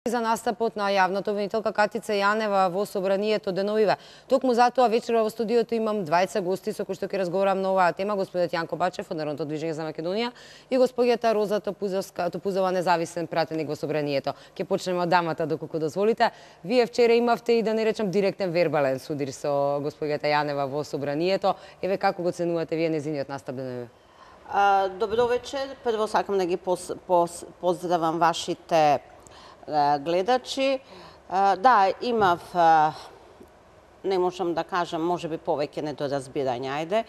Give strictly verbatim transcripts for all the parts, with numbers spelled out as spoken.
за настапот на јавната обвинителка Катица Јанева во собранието деновиве. Токму затоа вечера во студиото имам двајца гости со кои што ќе разговарам на оваа тема, господинот Јанко Бачев од Народното движење за Македонија и господјата Роза Топузовска, Топузова, независен пратеник во собранието. Ќе почнеме од дамата доколку дозволите. Вие вчера имавте и да не речам директен вербален судир со господјата Јанева во собранието. Еве како го ценувате вие нејзиниот настап деновиве? Добро вечер. Прво сакам да ги пос, пос, поздравам вашите гледачи. Да, имав, не можам да кажам, можеби повеќе недоразбирање, ајде.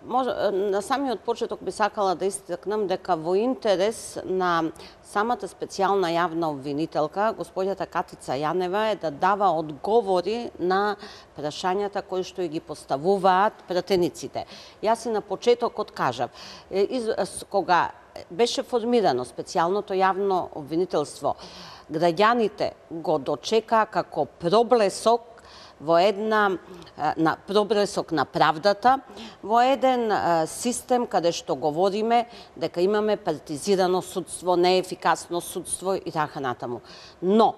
На самиот почеток би сакала да истакнам дека во интерес на самата специјална јавна обвинителка, господјата Катица Јанева, е да дава одговори на прашањата кои што ги поставуваат пратениците. Јас и на почетокот кажав, кога беше формирано специјалното јавно обвинителство, граѓаните го дочекаа како проблесок во една на проблесок на правдата, во еден систем каде што говориме дека имаме партизирано судство, неефикасно судство и така натаму. Но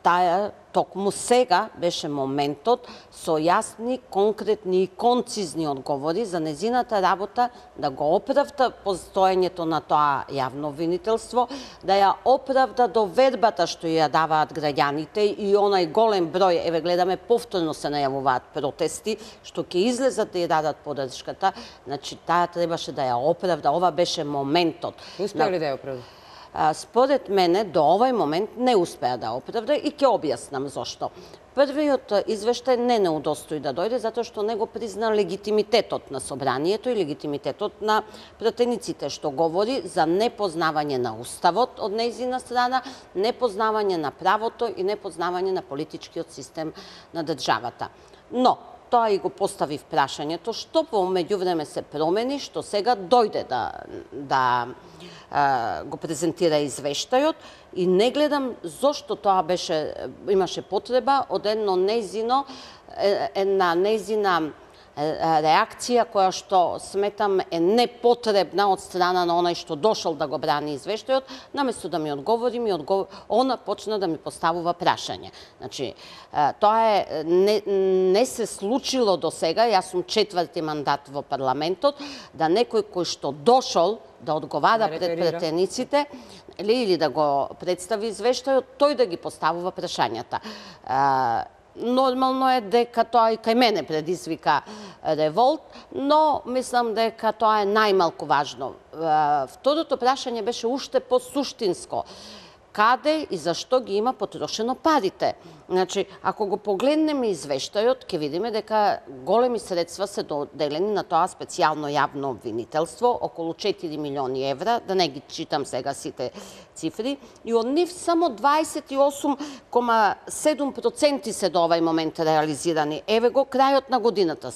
таа токму сега беше моментот со јасни, конкретни и концизни одговори за незината работа да го оправда постоењето на тоа јавно обвинителство, да ја оправда довербата што ја даваат граѓаните и онај голем број, еве гледаме повторно се најавуваат протести, што ќе излезат да ја дадат поддршката, значи таа требаше да ја оправда, ова беше моментот. Успеа ли да ја оправда? Според мене, до овој момент не успеа да оправда и ќе објаснам зошто. Првиот извештај не не удостои да дојде, затоа што не го призна легитимитетот на собранието и легитимитетот на пратениците, што говори за непознавање на уставот од нејзина страна, непознавање на правото и непознавање на политичкиот систем на државата. Но, тоа и го поставив прашањето, што по меѓувреме се промени, што сега дојде да, да а, го презентира извештајот и не гледам зошто тоа беше, имаше потреба од едно нејзино, една нејзина реакција која што сметам е непотребна од страна на онај што дошол да го брани извештајот, наместо да ми одговори, ми одговор... она почна да ми поставува прашање. Значи, тоа е не, не се случило до сега, јас сум четврти мандат во парламентот, да некој кој што дошол да одговара пред пратениците или да го представи извештајот, тој да ги поставува прашањата. Нормално е дека тоа и кај мене предизвика револт, но мислам дека тоа е најмалку важно. Второто прашање беше уште по-суштинско. Каде и зашто ги има потрошено парите? Значи, ако го погледнеме извештајот, ќе видиме дека големи средства се доделени на тоа специјално јавно обвинителство, околу четири милиони евра, да не ги читам сега сите цифри, и од нив само дваесет и осум кома седум проценти се до овај момент реализирани. Еве го крајот на годината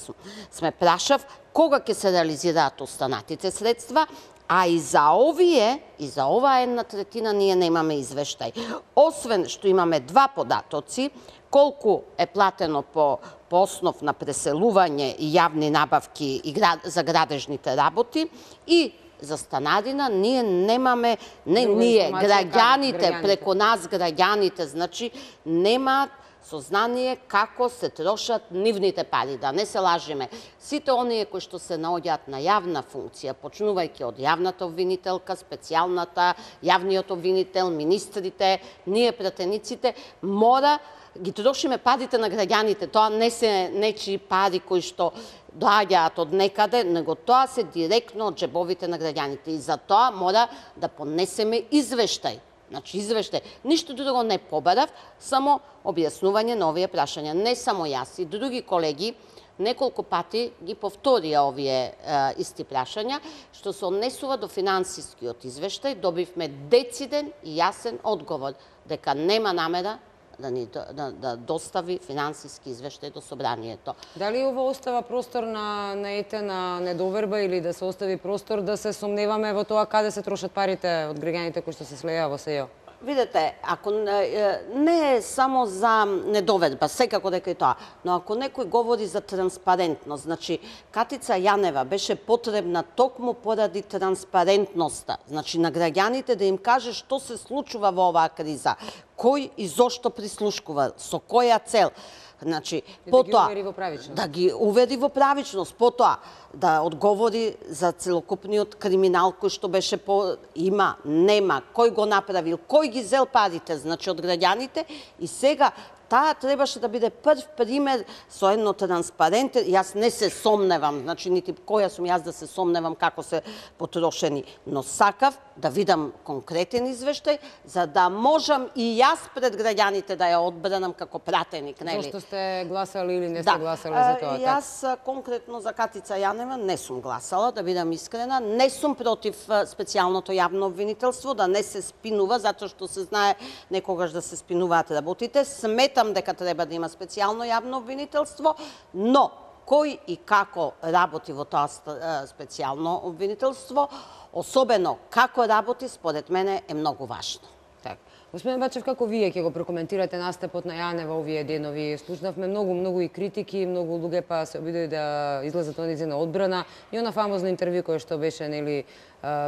сме прашав кога ќе се реализираат останатите средства, а и за овие, и за оваа една третина ние немаме извештај. Освен што имаме два податоци, колку е платено по, по основ на преселување и јавни набавки и град, за градежните работи, и за станарина ние немаме, не ние, граѓаните, преку нас граѓаните, значи немаат сознание како се трошат нивните пари, да не се лажиме. Сите оние кои што се наоѓаат на јавна функција, почнувајќи од јавната обвинителка, специјалната, јавниот обвинител, министрите, ние пратениците, мора ги трошиме парите на граѓаните. Тоа не се нечии пари кои што доаѓаат од некаде, него тоа се директно од джебовите на граѓаните. И за тоа мора да понесеме извештај. Значи, извештај. Ништо друго не побарав, само објаснување на овие прашања. Не само јас, и други колеги неколку пати ги повторија овие е, исти прашања, што се однесува до финансискиот извештај, добивме дециден и јасен одговор дека нема намера да ни да, да достави финансиски извештај до собранието. Дали ова остава простор на наетена недоверба или да се остави простор да се сомневаме во тоа каде се трошат парите од граѓаните кои што се слеја во СЕО? Видете, ако не, не е само за недоведба, секако дека и тоа, но ако некој говори за транспарентност, значи Катица Јанева беше потребна токму поради транспарентноста, значи на граѓаните да им каже што се случува во оваа криза, кој и зошто прислушкува, со која цел. Значи, И потоа да ги увери во правичност. Да ги увери во правичност, потоа да одговори за целокупниот криминал кој што беше по има, нема, кој го направил, кој ги зел парите, значи од граѓаните, и сега таа требаше да биде прв пример со едно транспарентен, јас не се сомневам, значи нити која сум јас да се сомневам како се потрошени, но сакав да видам конкретен извештај, за да можам и јас пред граѓаните да ја одбранам како пратеник, нели? Зошто сте гласали или не сте Да, гласали за тоа? а, јас а, конкретно за Катица Јанева не сум гласала, да бидам искрена, не сум против а, специјалното јавно обвинителство, да не се спинува, затоа што се знае некогаш да се спинуваат работите. Сметам дека треба да има специјално јавно обвинителство, но кој и како работи во тоа а, специјално обвинителство, особено како работи, според мене е многу важно. Така. Господин Бачев, како вие ќе го прокоментирате настапот на Јанева овие денови? Слушнавме многу, многу и критики, многу луѓе па се обидои да излезат на нејзина одбрана и она фамозно интервју кое што беше нели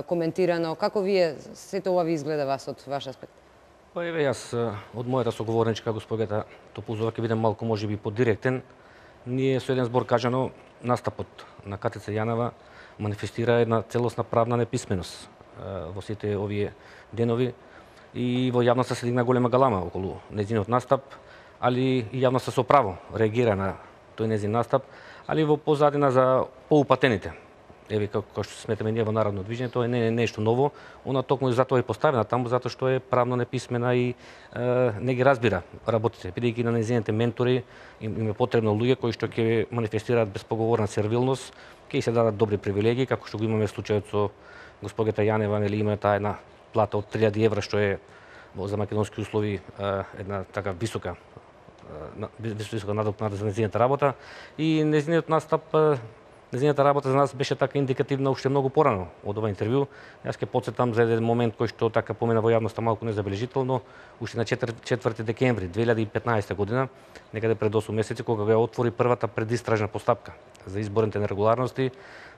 коментирано. Како вие сето ова ви изгледа вас од ваш аспект? Па еве јас од мојата соговорничка госпогата Топузова ќе бидам малку можеби подиректен. Ние со еден збор кажано настапот на Катица Јанева манифестира една целосна правна неписменост во сите овие денови и во јавноста се дигна голема галама околу нејзиниот настап, али и јавноста со право реагира на тој нејзин настап, али во позадина за поупатените. Еве како што сметаме ние во Народно движење, тоа не е нешто ново, она токму и затоа е поставена таму затоа што е правно неписмена и е, не ги разбира работите, бидејќи на нејзините ментори им, им е потребно луѓе кои што ќе манифестираат безпоговорна сервилност, ќе се дадат добри привилегии, како што го имаме случајот со госпогата Јанева, нели има таа една плата од три илјади евра, што е за македонски услови една така висока висока надокнада за нејзината работа и нејзиниот настап, нејзината работа за нас беше така индикативна уште многу порано од ова интервју. Јас ќе потсетам за еден момент кој што така помина во јавноста малку незабележително, уште на четврти декември две илјади и петнаесета година, некаде пред осум месеци, кога ја отвори првата предистражна постапка за изборните нерегуларности.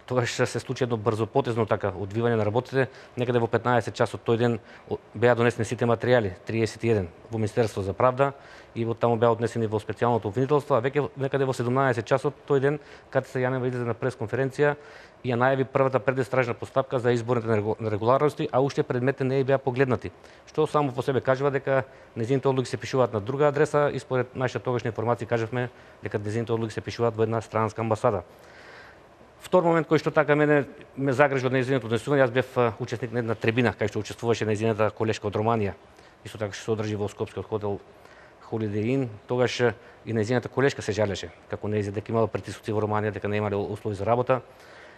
Тогаш се случи едно брзопотезно така одвивање на работите. Некаде во петнаесет часот тој ден беа донесени сите материјали, триесет и еден, во Министерство за правда и во таму беа однесени во специјалното обвинителство, а веќе некаде во седумнаесет часот тој ден Катица Јанева излезе на пресконференција и ја најави првата предистражна постапка за изборните нерегуларности, а уште предметите не беа погледнати. Што само по себе кажува дека нејзините одлуки се пишуваат на друга адреса и според нашите тогашни информации кажавме дека нејзините одлуки се пишуваат во една странска амбасада. Втор момент кој што така мене ме загрижи од нејзиното однесување, јас бев учесник на една трибина кај што учествуваше нејзината колешка од Романија. Исто така што се одржи во скопскиот хотел Holiday Inn, тогаш и нејзината колешка се жалеше како нејзин дека имала притисоци во Романија, дека не имале услови за работа.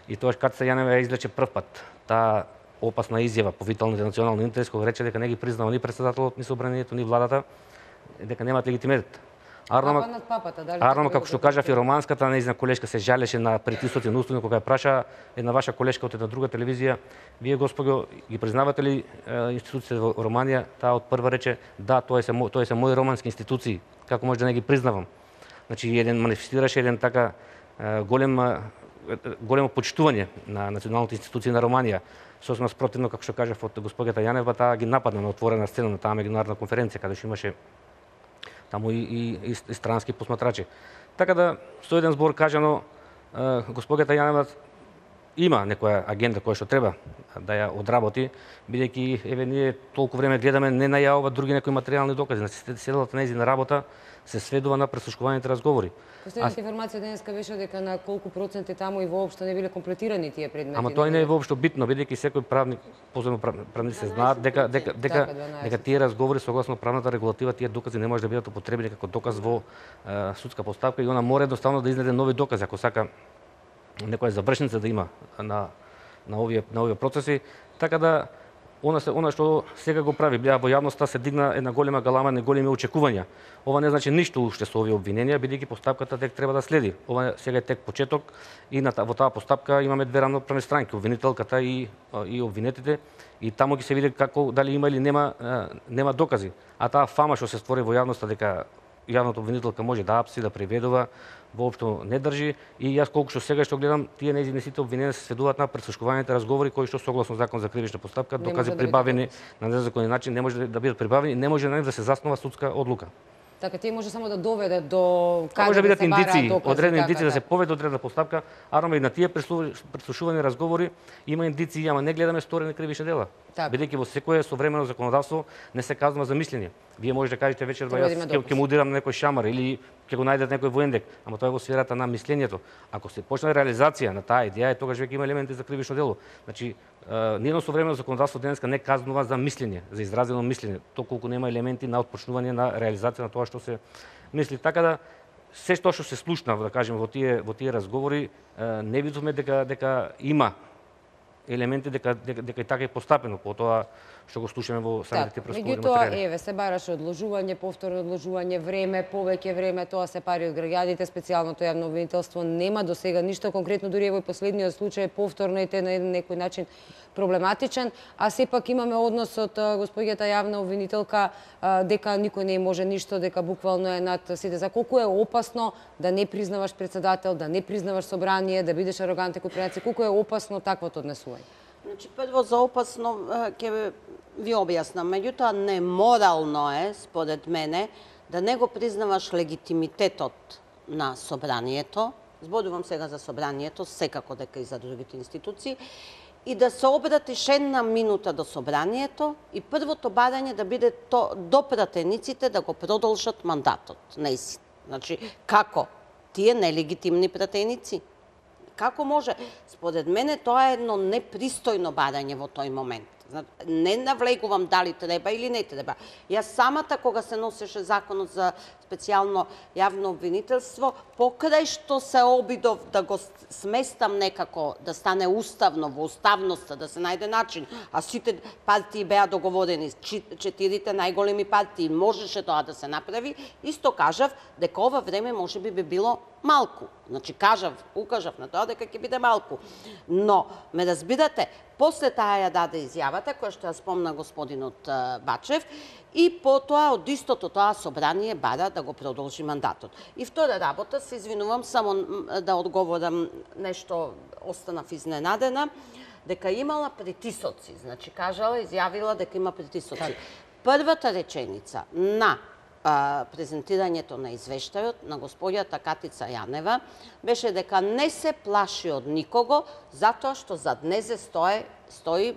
И тогаш Катица Јанева ја излече прв пат таа опасна изјава по виталните национални интерес, кога рече дека не ги признава ни претседателот, ни собранието, ни владата, дека немаат легитимитет. Арнама, Арнама како што кажав и романската нејзина колешка се жалеше на притисоци на услови, кога ја праша една ваша колешка од една друга телевизија, вие господо ги признавате ли институциите во Романија? Таа од прва рече да, тоа се тоа се мои романски институции, како може да не ги признавам. Значи еден манифестираше еден така голем големо почитување на националните институции на Романија. Сосема спротивно, како што кажав од госпогата Јанева, таа ги нападна на отворена сцена на таа меѓународна конференција каде што имаше таму и, и, и странски посматрачи. Така да, со еден збор кажано, госпогата Јанева има некоја агенда која што треба да ја одработи, бидејќи еве ние толку време гледаме, не најавува други некои материјални докази. Значи седелата нејзина работа се сведува на преслушуваните разговори. Последната информација денеска беше дека на колку проценти таму и воопшто не биле комплетирани тие предмети. Ама тоа не е воопшто битно, бидејќи секој правник, поземно правници се знаат дека дека дека дека тие разговори согласно правната регулатива, тие докази не може да бидат употребени како доказ во е, судска постапка и она мора едноставно да изнеде нови докази ако сака некоја завршница да има на на овие на овие процеси, така да Она се она што сега го прави, беа во јавноста се дигна една голема галама, не големи очекувања. Ова не значи ништо уште со овие обвиненија, бидејќи постапката тек треба да следи. Ова сега е тек почеток и на во таа постапка имаме две рамноправни странки, обвинителката и и обвинетите, и таму ќе се види како дали има или нема нема докази. А таа фама што се створи во јавноста дека јавната обвинителка може да апси, да преведува, воопшто не држи, и јас колку што сега што гледам, тие нејзини сите обвинени се сведуваат на пресушкуваните разговори кои што согласно закон за кривична постапка, докази да прибавени на незаконен начин, не може да бидат прибавени, не може на нив да се заснова судска одлука. Така тие може само да доведе до каде може да бидат се бараат индици, докази, одредени така, индици да се така. поведе одредена постапка, а и на тие пресушувани разговори има индици, ама не гледаме сторени кривични дела. Така. Бидејќи во секое современо законодавство не се казва за мислење. Вие може да кажете вечер Треба да јас има ќе допис. ќе му удирам на некој шамар или ќе го најдат некој воендек, ама тоа е во сферата на мислењето. Ако се почне реализација на таа идеја, тогаш веќе има елементи за кривично дело. Значи, ниедно современо законодавство денеска не казнува за мислење, за изразено мислење, толку нема елементи на отпочнување на реализација на тоа што се мисли. Така да се што што се слушна, да кажеме, во тие во тие разговори, не видовме дека дека има елементи дека дека, дека и така е постапено по тоа што го слушаме во самите пресудени Меѓутоа, материјали. еве, се бараше одложување, повторно одложување, време, повеќе време, тоа се пари од граѓаните, специјалното јавно обвинителство нема до сега ништо конкретно, дури во последниот случај повторно и те на некој начин проблематичен, а сепак имаме однос од господјата јавна обвинителка дека никој не може ништо, дека буквално е над сите. За колку е опасно да не признаваш председател, да не признаваш собрание, да бидеш арогантен кој председател, колку е опасно таквото однесување? Значи, прво за опасно ќе ви објаснам. Меѓутоа, неморално е, според мене, да не го признаваш легитимитетот на собранието, зборувам сега за собранието, секако дека и за другите институции, и да се обратиш една минута до собранието и првото барање да биде то, до пратениците да го продолжат мандатот. Неси. Значи, како? Тие нелегитимни пратеници. Како може? Според мене тоа е едно непристојно барање во тој момент. Не навлегувам дали треба или не треба. Јас самата, кога се носеше законот за специјално јавно обвинителство, покрај што се обидов да го сместам некако, да стане уставно, во уставноста, да се најде начин, а сите партии беа договорени, четирите најголеми партии, можеше тоа да се направи, исто кажав дека ова време може би би било малку. Значи, кажав, укажав на тоа дека ќе биде малку. Но, ме разбирате, после таа ја даде изјавата, која што ја спомна господинот Бачев, и потоа од истото тоа собрание бара да го продолжи мандатот. И втора работа, се извинувам, само да одговорам нешто, останав изненадена, дека имала притисоци. Значи, кажала, изјавила дека има притисоци. Првата реченица на презентирањето на извештајот на господјата Катица Јанева беше дека не се плаши од никого, затоа што зад незе стои, стои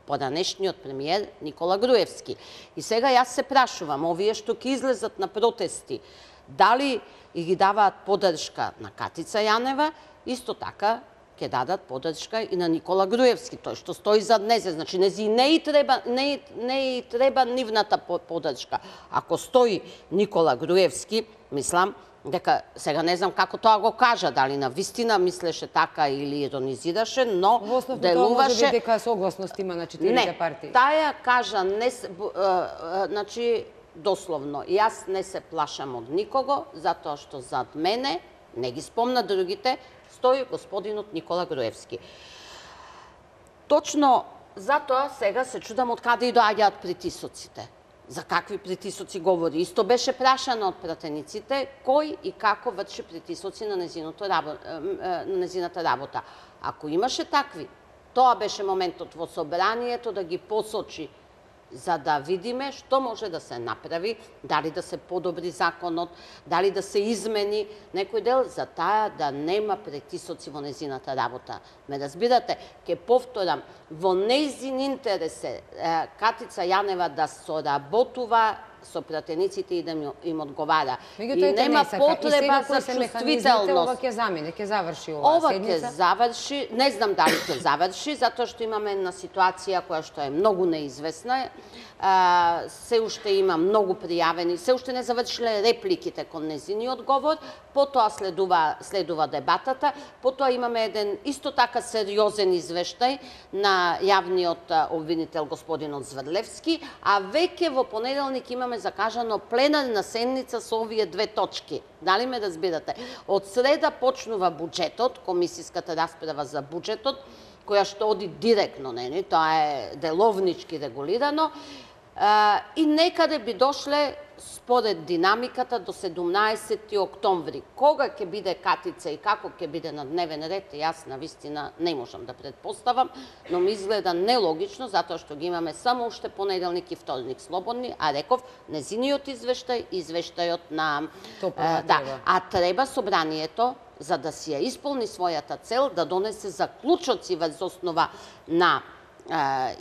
поранешниот премиер Никола Груевски. И сега јас се прашувам, овие што ќе излезат на протести, дали и ги даваат поддршка на Катица Јанева, исто така ќе дадат поддршка и на Никола Груевски, тој што стои зад незе. Значи, нези не и треба, не, не и треба нивната поддршка. Ако стои Никола Груевски, мислам, дека сега не знам како тоа го кажа, дали на вистина мислеше така или иронизираше, но Во основно делуваше... тоа може би дека согласност има на четирите партии. Не, таја кажа, не, значи, дословно, јас не се плашам од никого, затоа што зад мене, не ги спомна другите, стои господинот Никола Груевски. Точно затоа сега се чудам од каде и доаѓаат притисоците. За какви притисоци говори? Исто беше прашано од пратениците кој и како врши притисоци на незината работа. Ако имаше такви, тоа беше моментот во собранието да ги посочи, за да видиме што може да се направи, дали да се подобри законот, дали да се измени некој дел, за таа да нема притисоци во незината работа. Ме разбирате, ќе повторам, во нејзин интерес е Катица Јанева да соработува со пратениците и да им одговара. И нема потреба за чувствителност. Ова ќе замине, ќе заврши оваа Ова седмица? ќе заврши, не знам дали ќе заврши, затоа што имаме една ситуација која што е многу неизвестна. Се уште има многу пријавени, се уште не завршиле репликите кон незини одговор, потоа следува, следува дебатата, потоа имаме еден исто така сериозен извештај на јавниот обвинител господинот Зврлевски, а веќе во понеделник имаме закажано пленарна седница со овие две точки. Дали ме разбирате? Од среда почнува буџетот, комисиската расправа за буџетот, која што оди директно, нели, тоа е деловнички регулирано, и некаде би дошле според динамиката до седумнаесети октомври. Кога ќе биде Катица и како ќе биде на дневен ред, јас на вистина не можам да предпоставам, но ми изгледа нелогично, затоа што ги имаме само уште понеделник и вторник слободни, а реков, незиниот извештај, извештајот на... Топла, да, треба. а треба собранието, за да си ја исполни својата цел, да донесе заклучоци врз основа на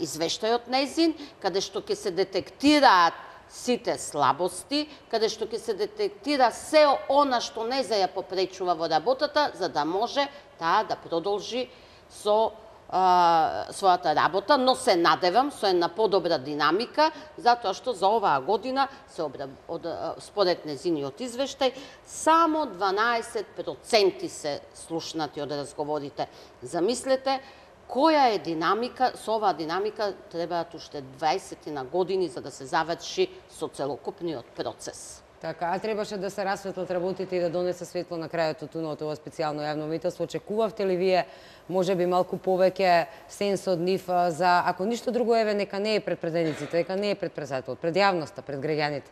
извештајот незин, каде што ќе се детектираат сите слабости, каде што ќе се детектира се она што не за ја попречува во работата, за да може таа да продолжи со а, својата работа, но се надевам со една подобра динамика, затоа што за оваа година се обра... од, според незиниот извештај само дванаесет проценти се слушнати од разговорите. Замислете која е динамика, со оваа динамика требаат уште дваесет на години за да се заврши со целокупниот процес. Така, а требаше да се расветлат работите и да донесе светло на крајот од туното ова специјално јавно обвинителство. Очекувавте ли вие, може би малку повеќе сенс од нив за, ако ништо друго, еве, нека не е пред пратениците, нека не е пред председателот, пред јавноста, пред граѓаните?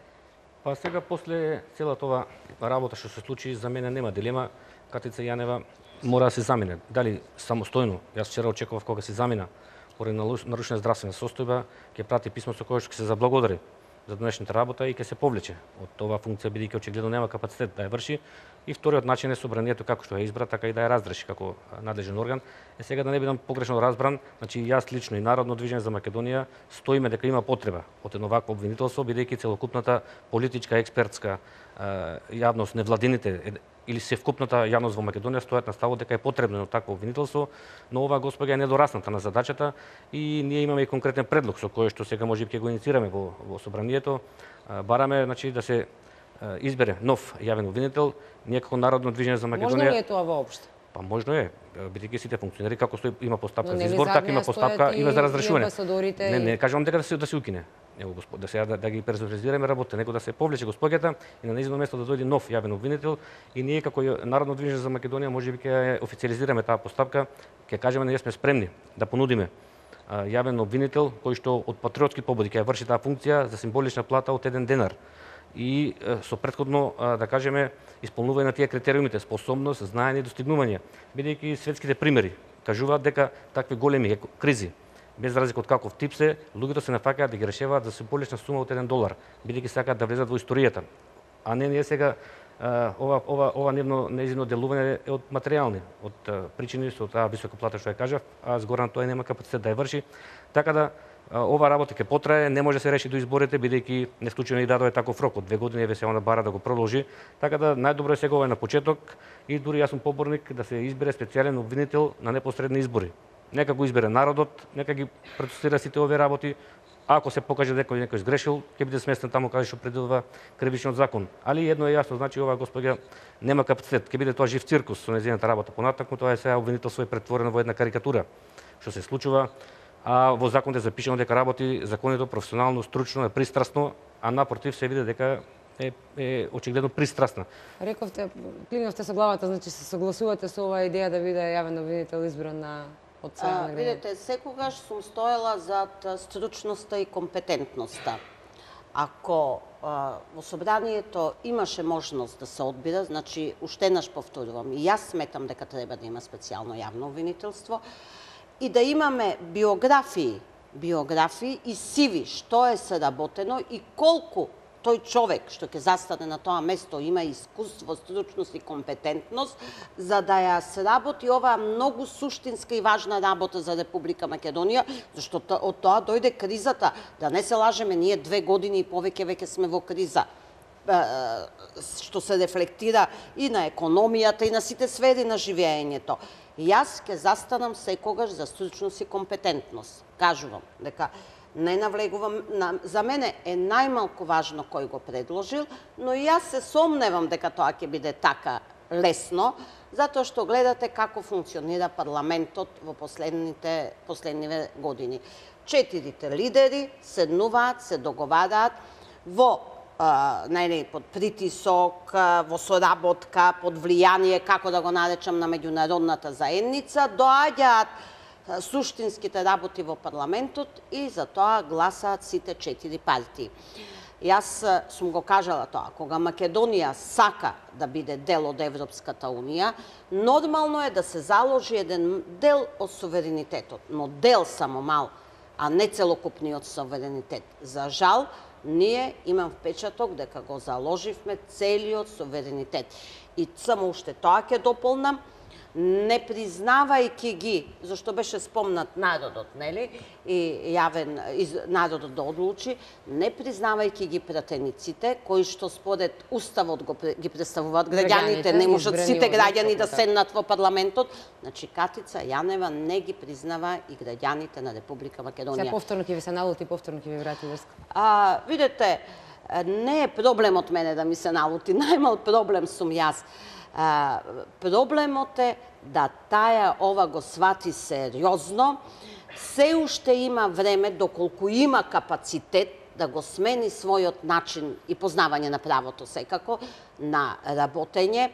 Па сега, после целата ова работа што се случи, за мене нема дилема. Катица Јанева мора да се замине. Дали самостојно, јас вчера очекував кога се замина, поради нарушена здравствена состојба, ќе прати писмо со кое што ќе се заблагодари за денешната работа и ќе се повлече од оваа функција, бидејќи очигледно нема капацитет да ја врши. И вториот начин е собранието како што ја избра, така и да ја разреши како надлежен орган. Е сега да не бидам погрешно разбран, значи јас лично и Народно движење за Македонија стоиме дека има потреба од едно вакво обвинителство, бидејќи целокупната политичка, експертска јавност, невладините или севкупната јавност во Македонија стојат на ставот дека е потребно едно такво обвинителство, но оваа господја е недорасната на задачата и ние имаме и конкретен предлог со кој што сега можеби ќе го инициираме во, во собранието. Бараме, значи, да се избере нов јавен обвинител. Ние како Народно движење за Македонија... Можно ли е тоа воопшто? Па можно е, бидејќи сите функционери како стои има постапка за избор, така има постапка има за разрешување. Не, не кажувам дека да се да се укине. Него господ, да се да, да ги персонализираме работа, него да се повлече господјата и на нејзино место да дојде нов јавен обвинител и ние како Народно движење за Македонија можеби ќе официализираме таа постапка, ќе кажеме ние сме спремни да понудиме јавен обвинител кој што од патриотски побуди ќе врши таа функција за символична плата од еден денар. И со претходно, да кажеме, исполнување на тие критериумите, способност, знаење и достигнување, бидејќи светските примери кажуваат дека такви големи кризи, без разлика од каков тип се, луѓето се нафаќаат да ги решаваат за символична сума од еден долар, бидејќи сакаат да влезат во историјата. А не ние сега ова ова ова нивно нејзино делување е од материјални, од причини со таа висока плата што ја кажав, а згоран тоа нема капацитет да ја врши, така да ова работа ќе потрае, не може да се реши до изборите, бидејќи не случајно и дадове таков рок од две години, еве се она бара да го продолжи, така да најдобро е сега ова на почеток и дури јас сум поборник да се избере специјален обвинител на непосредни избори. Нека го избере народот, нека ги процесира сите овие работи. Ако се покаже дека некој сгрешил, ќе биде сместен таму каде што предвидува кривичниот закон. Али едно е јасно, значи оваа господја нема капацитет, ќе биде тоа жив циркус со нејзината работа понатаму, тоа е сега обвинителство е претворено во една карикатура. Што се случува, а во законот е запишано дека работи законито, професионално, стручно, е пристрасно, а напротив се види дека е, е очигледно пристрасна. Рековте, клинавте со главата, значи се согласувате со оваа идеја да биде јавен обвинител избран на од страна на граѓаните? Видете, секогаш сум стоела зад стручноста и компетентноста. Ако а, во собранието имаше можност да се одбира, значи уште еднаш повторувам, и јас сметам дека треба да има специјално јавно обвинителство, и да имаме биографии, биографии и сиви што е сработено и колку тој човек што ќе застане на тоа место има искуство, стручност и компетентност за да ја сработи оваа многу суштинска и важна работа за Република Македонија, зашто од тоа дојде кризата. Да не се лажеме, ние две години и повеќе веќе сме во криза, што се рефлектира и на економијата и на сите сфери на живеењето. Јас ќе застанам секогаш за стручност и компетентност. Кажувам дека не навлегувам, за мене е најмалку важно кој го предложил, но и јас се сомневам дека тоа ќе биде така лесно, затоа што гледате како функционира парламентот во последните последниве години. Четирите лидери седнуваат, се договараат во најде под притисок, во соработка, под влијание, како да го наречам, на меѓународната заедница, доаѓаат суштинските работи во парламентот и за тоа гласаат сите четири партии. Јас сум го кажала тоа, кога Македонија сака да биде дел од Европската унија, нормално е да се заложи еден дел од суверенитетот, но дел само мал, а не целокупниот суверенитет. За жал, ние имам впечаток дека го заложивме целиот суверенитет. И само уште тоа ќе дополнам, не признавајќи ги, зашто беше спомнат народот, нели, и јавен народот да одлучи, не признавајќи ги пратениците, кои што според Уставот го, ги представуваат граѓаните, не можат сите граѓани да седнат во парламентот, значи Катица Јанева не ги признава и граѓаните на Република Македонија. Се повторно ќе ви се налути, повторно ќе ви врати врска. А, видете, не е проблем од мене да ми се налути, најмал проблем сум јас. А, проблемот е да таја ова го свати сериозно, се уште има време, доколку има капацитет да го смени својот начин и познавање на правото секако, на работење,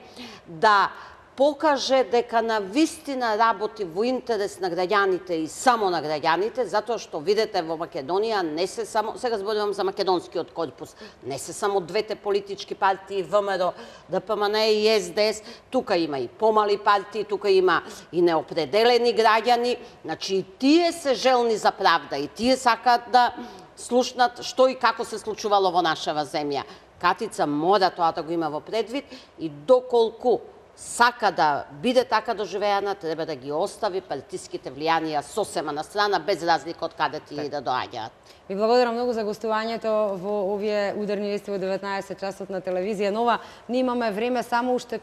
да покаже дека на вистина работи во интерес на граѓаните и само на граѓаните, затоа што видите во Македонија не се само, сега зборувам за македонскиот корпус, не се само двете политички партии ВМРО, ДПМН и СДС, тука има и помали партии, тука има и неопределени граѓани, значи и тие се желни за правда, и тие сакаат да слушнат што и како се случувало во нашава земја. Катица мора тоа да го има во предвид и доколку сака да биде така доживеана, треба да ги остави партиските влијанија сосема на страна, без разлика од каде ти да доаѓаат. Ви благодарам многу за гостувањето во овие ударни вести во деветнаесет часот на телевизија Нова. Ние имаме време само уште